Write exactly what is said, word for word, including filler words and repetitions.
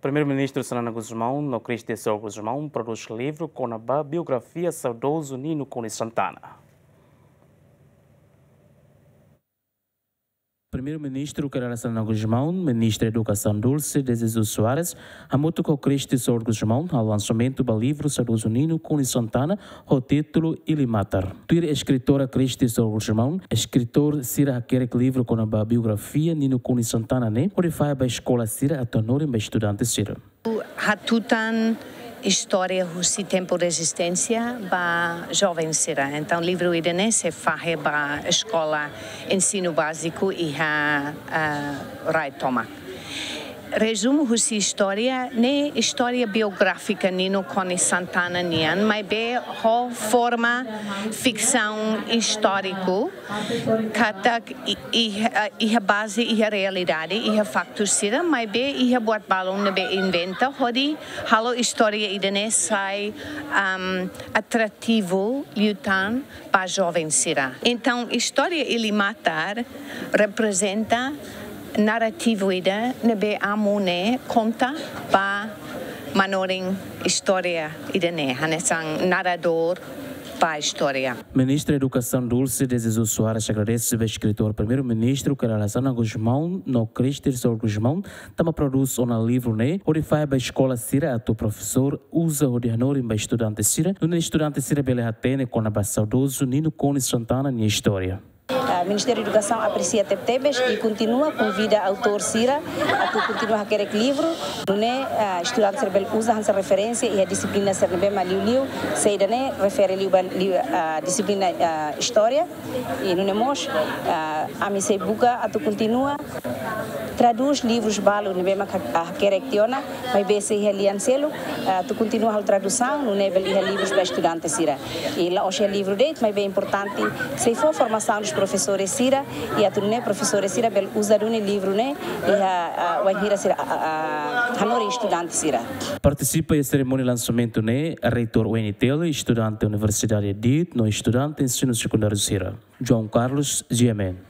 Primeiru-Ministru Xanana Gusmão no Cristy Sol Gusmão prodús livru kona-ba biografia saudozu Nino Konis Santana. Primeiru-Ministru Kay Rala Xanana Gusmão, Ministra Edukasaun Dulce de Jesus Soares, hamutuk ho Cristy Sol Gusmão, halo lansamentu ba livru saudozu Nino Konis Santana, ho títulu Ilimatar. Tuir eskritora Cristy Sol Gusmão, eskritór sira hakerek livru kona-ba biografia Nino Konis Santana ne'e, hodi fahe ba eskola sira atu hanorin ba estudante sira. Hatutan istória husi tempu rezisténsia ba joven sira. Entaun, livru ida-ne'e sei fahe ba eskola ensinu báziku iha, ah, rai tomak. Rezumu husi istória ne'e istória biográfika Nino Konis Santana nian, maibé ho forma fiksaun istóriku, katak i-, i-, eh, iha baze, iha realidade, iha faktu sira, maibé iha buat balun ne'ebé inventa, hodi halo istória ida-ne'e sai, am, atrativu liután ba joven sira. Entaun, istória Ilimatar reprezenta narrativu ida ne'ebé amu ne'e konta ba manorin istória ida-ne'e, hanesan naradór ba istória. Ministra Edukasaun Dulce de Jesus Soares agradese ba eskritór Primeiru-Ministru Kay Rala Xanana Gusmão no Cristy Sol Gusmão, tanba prodús ona livru ne'e, hodi fahe ba eskola sira atu profesór uza hodi hanorin ba estudante sira, nune'e estudante sira bele hatene kona-ba saudozu Nino Konis Santana nia istória. Ah, Ministériu Edukasaun apresia tebetebes i kontinua konvida autór sira atu kontinua hakerek livru, nune'e, ah, estudante sira bele uza hanesan referénsia iha dixiplina sira ne'ebé mak liuliu, saida ne'e refere liu ba liu, ah, dixiplina, ah, istória. I nune'e mós, ah, ami sei buka atu kontinua tradús livrus balu ne'ebé mak ha-, ah, hakerek tiha ona, maibé sei iha lian seluk, ah, atu kontinua halo tradusaun, nune'e bele iha livrus ba estudante sira. I la'ós iha livru de'it, maibé importante sei fó formasaun dos profesores sira, i atu nune'e profesores sira bele uza duni livru ne'e iha, ah, wainhira sira, ah, ah, hanorin estudante sira. Partisipa iha serimónia lansamentu ne'e, Reitór U N T L, estudante Universidade DIT, no estudante ensinu sekundáriu sira. João Carlos, G M N.